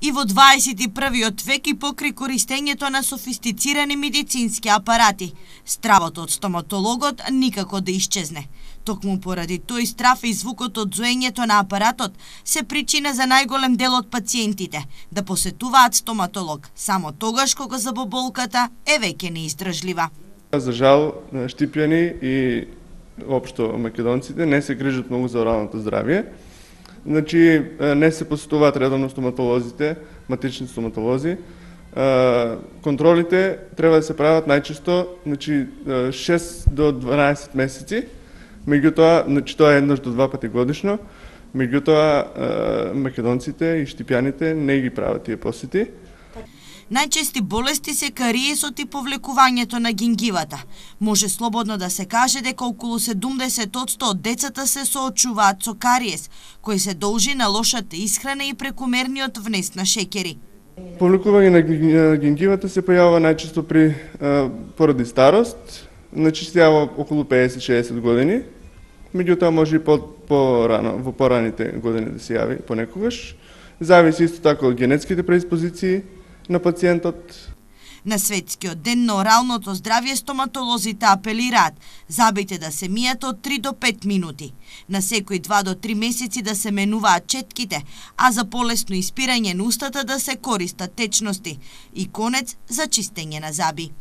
И во 21. век и покрај користењето на софистицирани медицински апарати, стравот од стоматологот никако да исчезне. Токму поради тој страв и звукот од зоењето на апаратот се причина за најголем дел од пациентите да посетуваат стоматолог само тогаш кога забоболката е веќе неиздржлива. За жал, Штипјани и општо македонците не се грижат многу за оралното здравје. Значи, не се посетуваат редовно стоматолозите, матични стоматолози. Контролите треба да се прават најчесто, значи 6 до 12 месеци. Меѓутоа, значи тоа е еднаш до 2 пати годишно. Меѓутоа, македонците и штипјаните не ги прават тие посети. Најчести болести се кариесот и повлекувањето на гингивата. Може слободно да се каже дека околу 70% од децата се соочуваат со кариес, кој се должи на лошата исхрана и прекумерниот внес на шеќери. Повлекување на гингивата се појавува најчесто поради старост, значи се јавува околу 50-60 години, меѓутоа може и по-рано, во пораните години да се јави понекогаш. Зависи исто така од генетските предиспозиции на пациентот. На Светскиот ден на оралното здравје стоматолозите апелираат забите да се мијат од 3 до 5 минути, на секои 2 до 3 месеци да се менуваат четките, а за полесно испирање на устата да се користат течности и конец за чистење на заби.